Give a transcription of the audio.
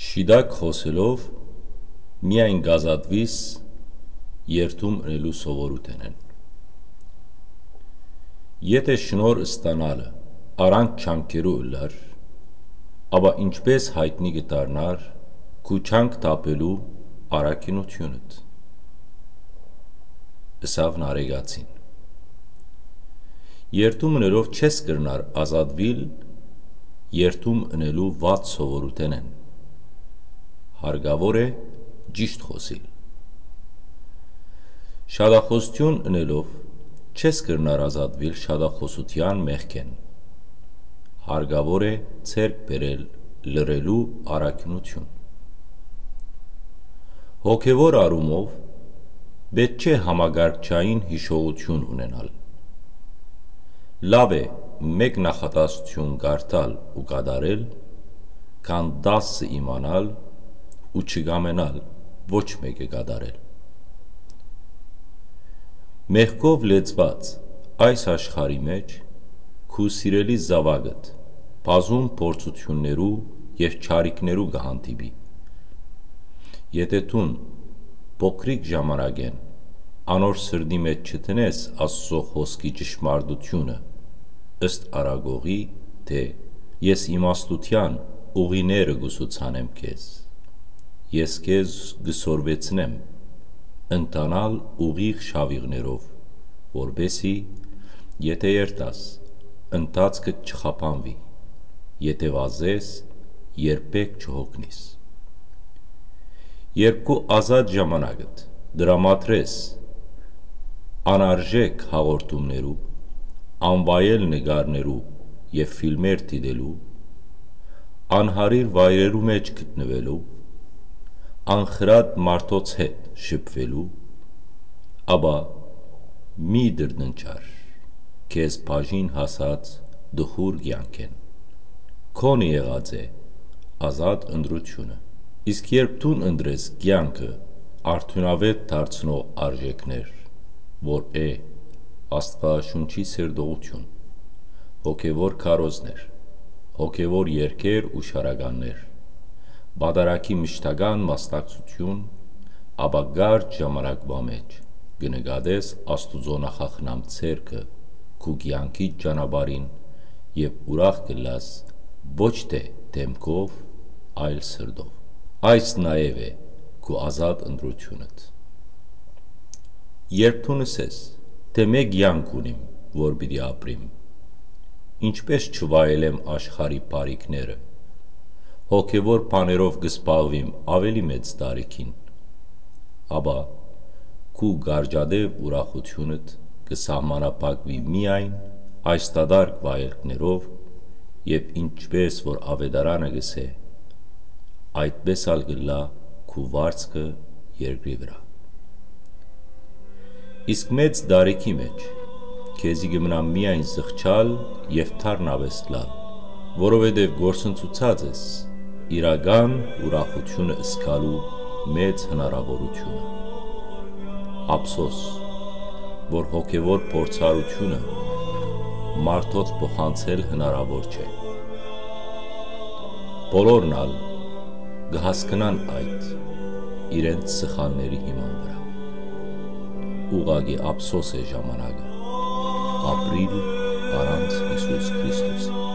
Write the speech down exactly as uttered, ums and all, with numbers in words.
Շիտակ խօսելով, միայն կ'ազատուիս երդում ընելու սովորութենէն։ Եթէ շնորհ ստանալը առանց չանքերու ըլլար, ապա ինչպէ՞ս յայտնի կը դառնար քու չանք թափելու առաքինութիւնդ, ըսաւ Նարեկացին։ Երդում ընելով չես կրնար ազատուիլ երդում ընելու վատ սովորութենէն։ Հարկաւոր է ճիշդ խօսիլ։ Շատախօսութիւն ընելով չես կրնար ազատուիլ շատախօսութեան մեղքէն։ Հարկաւոր է ձեռք բերել լռելու առաքինութիւն։ Հոգեւոր առումով պէտք չէ համակարգչային յիշողութիւն ունենալ։ Լաւ է մէկ նախատասութիւն կարդալ ու կատարել, քան տասը իմանալ ու չկամենալ ոչ մէկը կատարել։ Մեղքով լեցուած այս աշխարհի մէջ քու սիրելի զաւակդ բազում փորձութիւններու եւ չարիքներու կը հանդիպի։ Եթէ դուն փոքրիկ ժամանակէն անոր սրտի մէջ չդնես Աստուծոյ խօսքի ճշմարտութիւնը, ըստ առակողի, թէ «Ես իմաստութեան ուղիները կու սուցանեմ քեզ, ես քեզ կը սորվեցնեմ ընթանալ ուղիղ շաւիղներով, որպէսզի, եթէ երթաս, ընթացքդ չխափանուի, եթէ վազես, երբեք չյոգնիս»։ Երբ քու ազատ ժամանակդ տրամադրես անարժէք հաղորդումներու, անվայել նկարներու եւ ֆիլմեր դիտելու, անհարիր վայրերու մէջ գտնուելու, անխրատ մարդոց հետ շփուելու, ապա մի դրդնչար քեզ բաժին հասած տխուր կեանքէն։ Քոնը եղած է ազատ ընտրութիւնը։ Իսկ երբ դուն ընտրես կեանքը արդիւնաւէտ դարձնող արժէքներ, որ է Աստուածաշունչի սերտողութիւն, հոգեւոր քարոզներ, հոգեւոր երգեր ու շարականներ, պատարագի մշտական մասնակցութիւն, ապա կարճ ժամանակուայ մէջ կը նկատես Աստուծոյ նախախնամ ձեռքը քու կեանքիդ ճանապարհին եւ ուրախ կ'ըլլաս ոչ թէ դէմքով, այլ սրտով։ Այս նաեւ է քու ազատ ընտրութիւնդ։ Երբ դուն ըսես, թէ մէկ կեանք ունիմ, որ պիտի ապրիմ, ինչպէ՞ս չվայելեմ աշխարհի բարիքները, հոգեւոր բաներով կը զբաղուիմ աւելի մեծ տարիքին, ապա քու կարճատեւ ուրախութիւնդ կը սահմանափակուի միայն այս դատարկ վայելքներով եւ, ինչպէս որ աւետարանը կ'ըսէ, այդպէս ալ կ'ըլլայ քու վարձքը երկրի վրայ։ Իսկ մեծ տարիքի մէջ քեզի կը մնայ միայն զղջալ եւ դառնապէս լալ, որովհետեւ կորսնցուցած ես իրական ուրախութիւնը զգալու մեծ հնարաւորութիւնը։ Ափսոս, որ հոգեւոր փորձառութիւնը մարդոց փոխանցել հնարաւոր չէ։ Բոլորն ալ կը հասկնան այդ իրենց սխալների հիման վրայ։ Ուղղակի ափսոս է ժամանակը ապրիլ առանց Յիսուս Քրիստոսի։